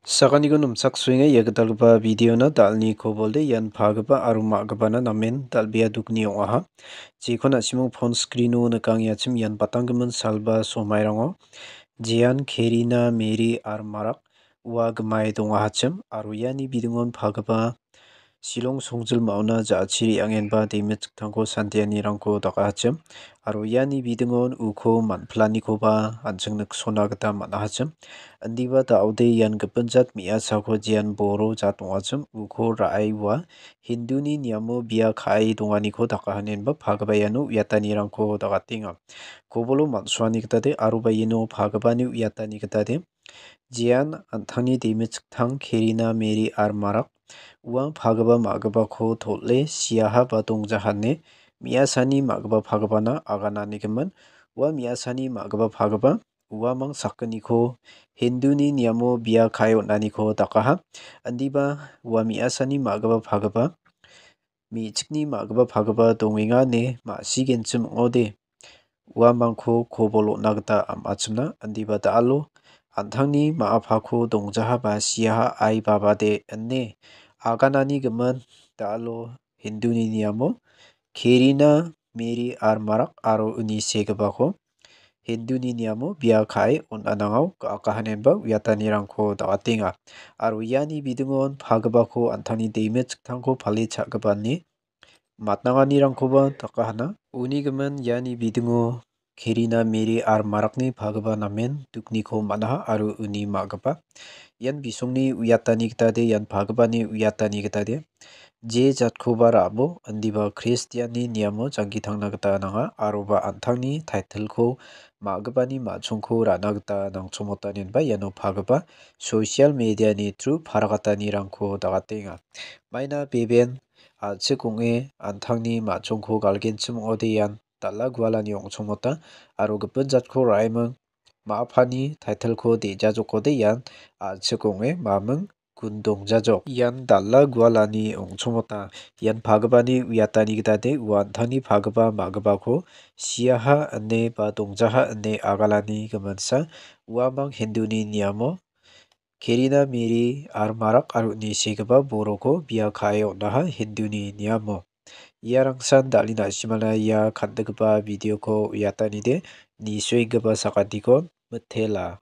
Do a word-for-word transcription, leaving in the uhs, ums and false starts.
Sakantikon nimchaksoenga ia gitalgipa videona dal·ni kobolde ian pagipa aro ma·gipana namen dal·bea dukni ong·aha. Jekon na·simang phone screeno nikangenga chim ian batanggimin salba somairango jean Kerina, Meri aro Marak ua gimai dongahachim aro iani bidingon pagipa Shillong songjilmaona ja·chi re·angenba demit chiktangko santianirangko dakahachim aro iani bidingon uko man·pilanikoba an·ching niksona gita man·ahachim. Indiba da·ode ian gipin jat me·asako jean boro jat ong·achim uko ra·e ua Hinduni niamo bia ka·e donganiko dakahanenba pagipa iano uiatanirangko dakatenga. Kobolo man·suani gitade aroba iano pagipani uiatani gitade jean an·tangni demit chiktang Kerina, Meri aro Marak ua pagipa ma·gipako tol·e siaha ba dongjahane me·asani ma·gipa pagipana agananigimin. Ua me·asani ma·gipa pagipa uamang sakgniko Hinduni niamo bia ka·e on·aniko dakaha. Indiba ua me·asani ma·gipa pagipa me·chikni ma·gipa pagipa dongenga ine ma·sigenchim ong·ode uamangko kobol on·a gita am·achimna indiba da·alo an·tangni ma·apako dongjahaba siaha ai babade ine aganani gimin da·alo Hinduni niamo Kerina, Meri aro Marak aro uni segipako Hinduni niamo bia ka·e on·anangao ga·akahanenba uiatanirangko dakatenga. Aro iani bidingon pagipako an·tangni demit chiktangko pale cha·gipani matnanganirangkoba dakahana. Uni gimin iani bidingo Kerina, Meri aro Marakni pagipa namen dukniko man·aha aro uni ma·gipa ian bisongni uiatani gitade ian pagipani uiatani gitade je jatkoba ra·bo indiba Kristianni niamo jangki tangna gita nanga aroba an·tangni title-ko ma·gipani ma·chongko ra·na gita nangchomotanenba iano pagipa social media-ni through paragatanirangko dakatenga. Maina beben a·chik ong·e an·tangni ma·chongko galgenchim ong·ode ian dal·a gualani ong·chongmota aro gipin jatko ra·eming ma·apani title-ko de·jajokode ian a·chik ong·e maming gundongjajok. Ian dal·a gualani ong·chongmota ian pagipani uiatani gitade ua an·tangni pagipa ma·gipako siaha ine ba dongjaha ine agalani giminsa uamang Hinduni niamo Kerina, Meri aro Marak aro uni segipa boroko bia ka·e on·aha Hinduni niamo. Iarangsan dal·e na·simana ia kan·gipa videoko uiatanide nisoenggipa sakantikon mitela.